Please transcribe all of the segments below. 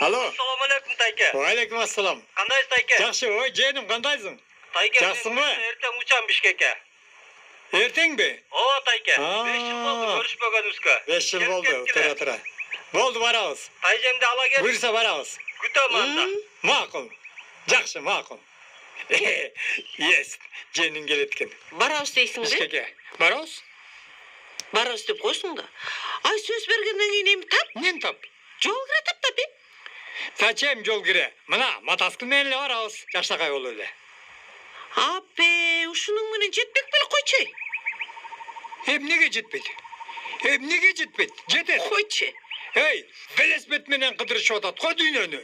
Алло. Assalomu alaykum Tayke. Va alaykum assalom. Qandaysiz Tayke? Yaxshi, voy jenim, qandaysың? Tayke, Yaxshimi? ertaga ucham Bishkekka. Ertengmi? Ova Tayke. 5 yil bo'ldi ko'rishmaganimizga. 5 yil bo'ldi, tura. Bo'ldi, boramiz. Tayjemni ala kel. Buyursa boramiz. Kutaman da. Ma'qul. Yaxshi, ma'qul. Yes, jenim keletken. Barabыз дейсің бе? Bishkekka. Boramiz? Barabыз деп қойсың да. Ай, сөз бергенден кейін эми тап. Мен тап. Жол кіре тап бе? Зачем жол кире? Мына матаскы менен эле барабыз. Жакшакай болуп эле. Апе, ушунун менен жетпек беле койчу. Эмнеге жетпейт? Эмнеге жетпейт? Жетет. Койчу. Эй, велосипед менен кыдырышып атат го дүйнөнү.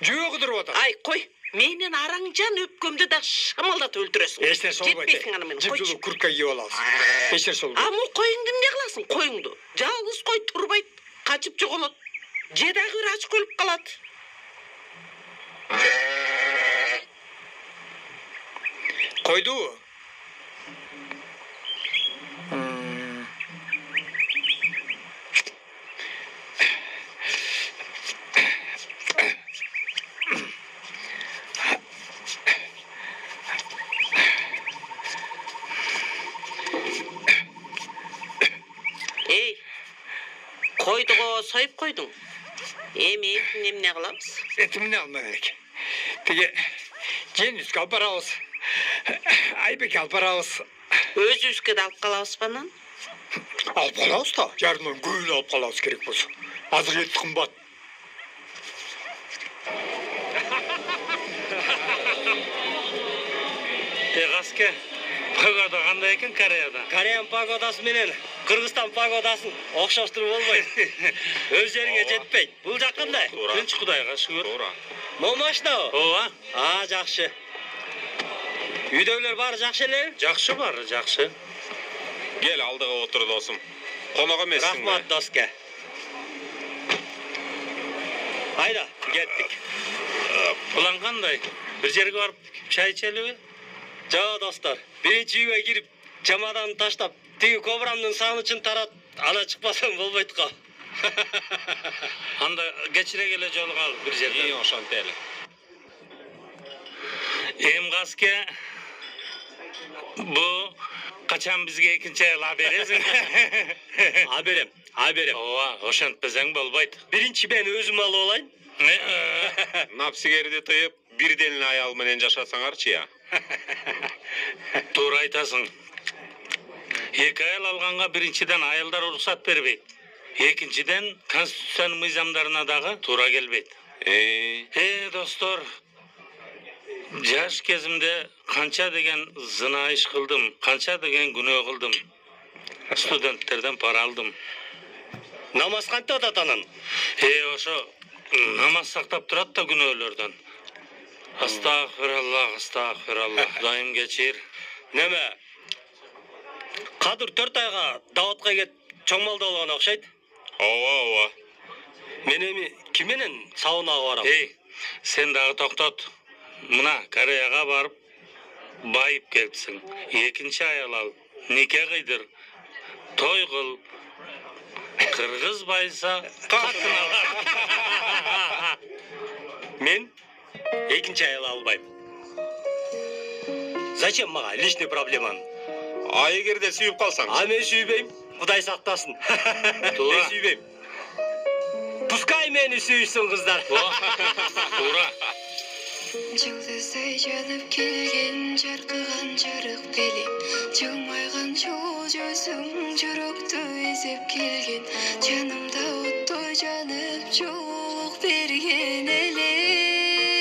Жөө кыдырып атат. Ай, кой. Менен араңжан өпкөмдү да шамалдатып өлтүрөсүң. Эчтер солбойт. Жетпейсиң аны менен койчу. Жыпжылуу куртка кийип алабыз. Эчтер солбойт. Аму коюңду эмне кыласың? Коюңду. Жалгыз кой турбайт, качып жоголот. Же дагы бир ачык өлүп калат. Койду. Эй, койдуго союп койдуң. Эми этин эмне кылабыз? Этимни алма керек. Тиги Жениске алып барабыз. Айбекке алып барабыз. Өзүбүзгө да алып калабызбы анан? Алып калабыз да, жарымдан көбүн алып калабыз керек болсо. Азыр эт кымбат. Гаске. Погода кандай экен Кореяда? Кореян погодасы менен Кыргызстан погодасын окшоштуруп болбойт. Өз жериңе жетпейт. Бул жак кандай? Тынч Кудайга шүгүр. Туура. Момашнабы? Ооба. Жакшы. Үйдөгүлөр баары жакшы эле? Жакшы бар, жакшы. Gel aldığa otur dostum. Konağa emessin. Рахмат доске. Айда, кеттик. Улан кандай? Бир жерге барып чай ичелиби? Жоо достор, биринчи үйгө кирип, чемоданды таштап, тиги кобрамдын сагынычын тарат, ана чыкпасам болбойт го. Анда кечире келе жолугалы бир жерде. İyi ошонтип эле. Гаске. Бу качан бизге экинчи айыл бересиң? Берем. Ооба, ошентпесең болбойт. Биринчи мен өзүм алып алайын. Напсигерди тыйып, бирден эле аял менен жашасаңарчы я. Туура айтасың. Эки айыл алганга биринчиден айылдар уруксат бербейт. Экинчиден конституциянын мыйзамдарына дагы туура келбейт. Достор, жаш кезимде канча деген зына иш кылдым, канча деген күнөө кылдым. Студенттерден пара алдым. Намаз кантип атат анан? Ошо намаз сактап турат да күнөөлөрдөн. Астагфираллах, Кудайым кечир. Неме? Кадыр 4 айга Даватка кет чоңмалда болгон окшойт. Ооба. Мен эми ким менен саунага барам? Сен дагы токтот. Мына Кореяга барып байып келипсиң. Экинчи аял ал, нике кыйдыр, той кыл. Кыргыз байса катын ал. Мен экинчи аял албайм. Зачем мага личный проблеманы? А эгерде сүйүп калсаң? Мен сүйбейм. Кудай сактасын. Туура. Мен сүйбейм. Пускай мени сүйсүн кыздар. Туура. Жылдыздай жанып келген жаркыган жарык белем, жылмайган жол жүзүң жүрөктү эзеп келген, жанымда оттой жанып жоолук берген элең.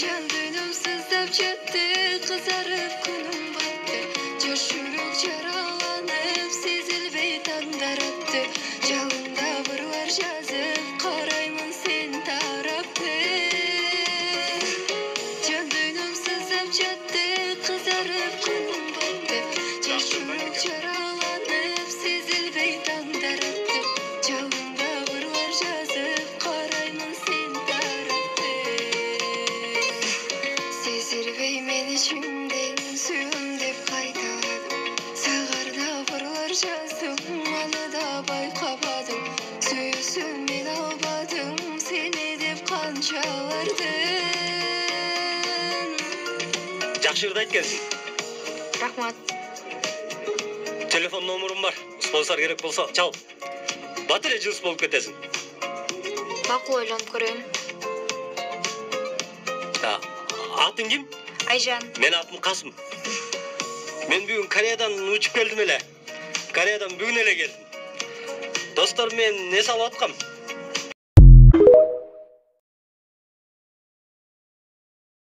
Жан дүйнөм сыздап жатты, кызарып күнүм батты, жаш жүрөк жараланып сезилбей таңдар атты, жалында бір бар жазып караймын сен тарапты. Жан дүйнөм сыздап жатты, кызарып күнүм батты, жаш жүрөк жараланып сезилбей таңдар атты, жалында бір бар жазып караймын сен тарапты. Сезилбей мен ичимден сүйөм деп кайталадым, сагарда бурлар жаздым, аны да байкабадым. Сүйүүсү чалардын. Жакшы ырды айткансың. Рахмат. Телефон номурум бар. Спонсор керек болсо чал. Бат эле жылыс болуп кетесиң. Макул ойлонуп көрөйүн. Атың ким? Айжан. Мен атым Касым. Мен бүгүн Кореядан учуп келдим эле. Кореядан бүгүн эле келдим. Достор мен не салып аткам?